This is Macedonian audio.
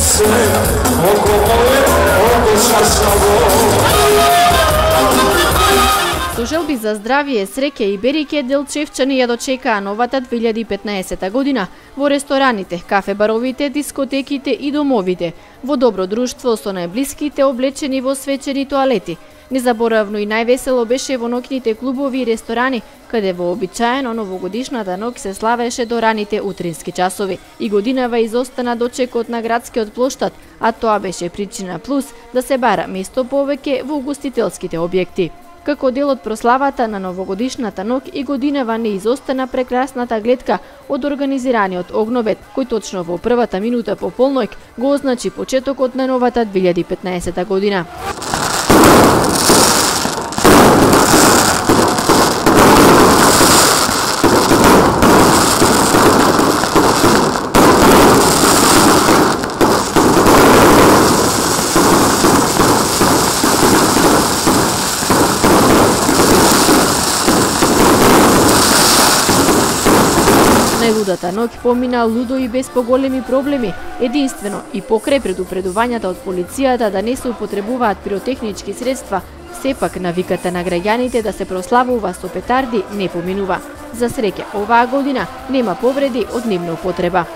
Sve oko moje, oko šašavo. Со желби за здравје, среќа и береќе, делчевчани ја дочекаа новата 2015 година во рестораните, кафе-баровите, дискотеките и домовите, во добро друштво со најблиските облечени во свечени тоалети. Незаборавно и највесело беше во ноќните клубови и ресторани, каде вообичаено новогодишната ноќ се славеше до раните утрински часови. И годинава изостана дочекот на градскиот плоштад, а тоа беше причина плюс да се бара место повеќе во угостителските објекти. Како дел од прославата на новогодишната ноќ и годинава не изостана прекрасната гледка од организираниот огновет, кој точно во првата минута по полноќ го означи почетокот на новата 2015 година. Најлудата ноќ помина лудо и без поголеми проблеми, единствено и покрај предупредувањата од полицијата да не се употребуваат пиротехнички средства, сепак навиката на граѓаните да се прославува со петарди не поминува. За среќа, оваа година нема повреди од нивна употреба.